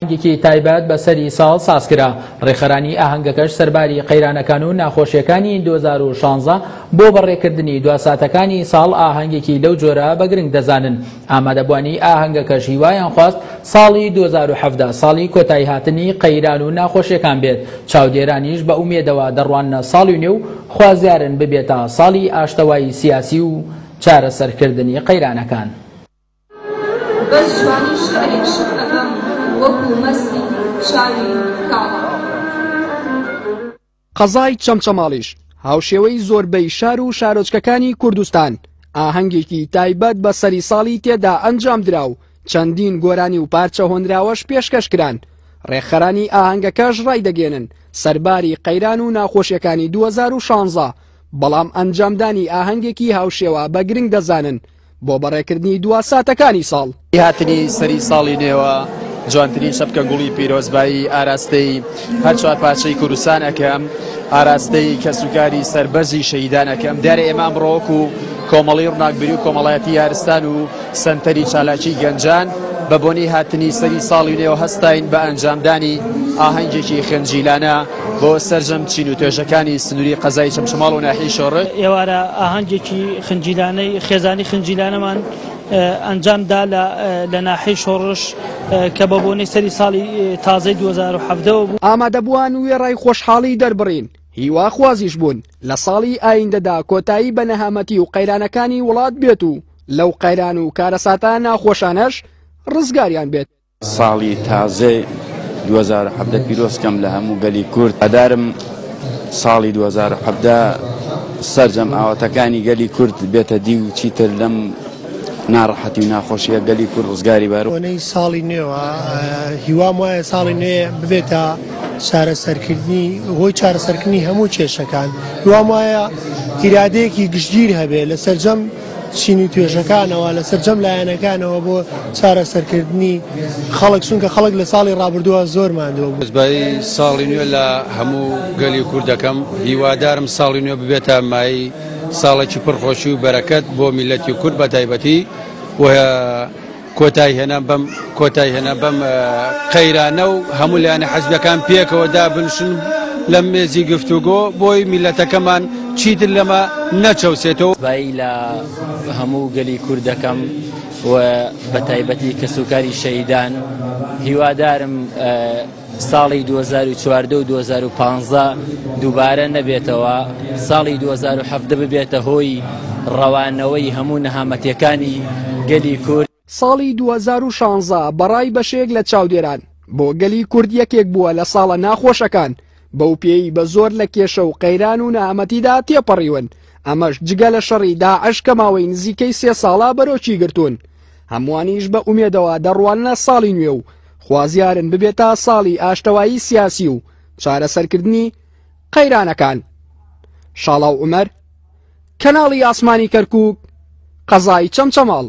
ئاهەنگێکی تایبەت بە سەری ساڵ سازکرا، ڕێکخەرانی ئاهەنگەکەش سەرباری قەیرانەکان و ناخۆشیەکانی 2016 بۆ بەڕێکردنی دوا ساتەکانی ساڵ ئاهەنگێکی لەو جۆرە بە گرنگ دەزانن. ئامادەبوانی ئاهەنگەکەش هیوایان خواست ساڵی 2017 ساڵی کۆتاییهاتنی قەیران و ناخۆشیەکان بێت، چاودێرانیش بە ئومێدەوە دەڕواننە ساڵی نوێ و خوازیارن ببێتە ساڵی ئاشتەوایی سیاسی و چارەسەرکردنی قەیرانەکان. بەس جوانی شیعرێک شک ئەبەم وەکوو مەستی چاوی کاڵە. قەزای چەمچەماڵیش هاوشێوەی زۆربەی شار و شارۆچکەکانی کوردستان ئاهەنگێکی تایبەت بە سەری ساڵی تێدا ئەنجامدرا و چەندین گۆرانی و پارچە هۆنراوەش پێشکەش کران، ڕێکخەرانی ئاهەنگەکەش ڕایدەگەیەنن سەرباری قەیران و ناخۆشیەکانی 2016 بەڵام ئەنجامدانی ئاهەنگێکی هاوشێوە بە گرنگ دەزانن بۆ بەڕێکردنی دوا ساتەکانی ساڵ. هاتنی سەری ساڵی نوێوە جوانترین چەپکە گوڵی پیرۆزبایی ئاراستەی هەر چوار پارچەی کوردستان ئەکەم، ئاراستەی کەسوکاری سەربەرزی شەهیدان ئەکەم. دیارە ئێمە ئەمڕۆ وەکو کۆمەڵەی ڕووناکبیری و کۆمەڵایەتی یارستان و سەنتەری چالاکی گەنجان بە بۆنەی هاتنی سەری ساڵی نوێوە هەستاین بە ئەنجامدانی ئاهەنگێکی خنجیلانە بۆ سەرجەم چین و توێژەکانی سنووری قەزای چەمچەماڵ و ناحیەی شۆڕش. ئێوارە ئاهەنگێکی خنجیلانەی خێزانی خنجیلانەمان ئەنجام دا لە ناحیەی شۆڕش کە بە بۆنەی سەری ساڵی تازەی 2017 ەوە بوو. ئامادەبووان وێڕای خۆشحاڵی دەربڕین، هیواخوازیش بوون لە ساڵی ئایندەدا کۆتایی بە نەهامەتی و قەیرانەکانی وڵات بێت و لەو قەیران و کارەساتە ناخۆشانەش ڕزگاریان بێت. ساڵی تازەی 2017 پیرۆز کەم لە هەموو گەلی کورد هەدارم ساڵی 2017 سەرجەم ئاواتەکانی گەلی کورد بێتە دی و چیتر لەم ناڕەحەتی و ناخۆشیە گەلی کورد ڕزگاری بار. بۆنەی ساڵی نوێوە هیوام وایە ساڵی نوێ ببێتە چارەسەرکردنی هۆی چارەسەرکردنی هەموو کێشەکان هیوام وایە ئیرادەیەکی گشتگیر هەبێ لە سەرجەم چین و توێژەکانەوە لە سەرجەم لایەنەکانەوە بۆ چارەسەرکردنی خەڵک چونکە خەڵک لە ساڵی ڕابردووە زۆر ماندووە بوو. پیرۆزبایی ساڵی نوێ لە هەموو گەلی کورد دەکەم، هیوادارم ساڵی نوێ ببێتە مایەی ساڵێکی پڕ خۆشی و بەرەکەت بۆ میللەتی کورد بە تایبەتی و کۆتایی هێنان بەم کۆتایی هێنان بەم قەیرانە و هەموو لایەنە حزبەکان پێکەوە دابنشن لە مێزی گفتوگۆ بۆی میلەتەکەمان چیتر لەمە نەچەوسێتەوە. بایی لە هەموو گەلی کورد دەکەم و بە تایبەتی کەسوکاری شەهیدان هیوادارم ساڵی 2014 و 2015 دووبارە نەبێتەوە، ساڵی 2017 ببێتە هۆی ڕەوانەوەی هەموو نەهامەتیەکانی گەلی کورد. ساڵی 2016 بەڕای بەشێک لە چاودێران بۆ گەلی کورد یەکێک بووە لە ساڵە ناخۆشەکان، بەو پێیەی بە زۆر لە کێشە و قەیران و نەهامەتیدا تێپەڕیون، ئەمەش جگە لە شەڕی داعش کە ماوەی نزیکەی سێ ساڵە بەرۆکی گرتوون. هەمووانیش بە ئومێدەوە دەڕواننە ساڵی نوێ و خوازیارن ببێتە ساڵی ئاشتەوایی سیاسی و چارەسەرکردنی قەیرانەکان. شاڵاو عومەر، کەناڵی ئاسمانی کەرکوک، قەزای چەمچەماڵ.